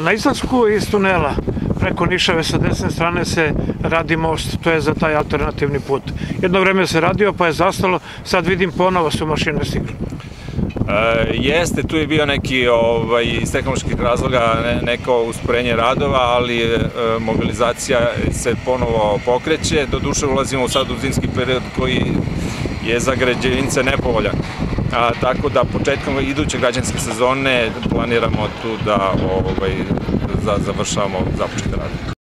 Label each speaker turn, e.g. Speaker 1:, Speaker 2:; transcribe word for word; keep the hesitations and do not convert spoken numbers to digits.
Speaker 1: Na izlasku iz tunela preko Nišave sa desne strane se radi most, to je za taj alternativni put. Jedno vreme se radio pa je zastalo, sad vidim ponovo su mašine stigle.
Speaker 2: Jeste, tu je bio neki iz tehnoloških razloga neko usporenje radova, ali mobilizacija se ponovo pokreće. Doduše ulazimo sad u zimski period koji je za građevince nepovoljan. Tako da početkom iduće građanske sezone planiramo tu da završavamo započete radove.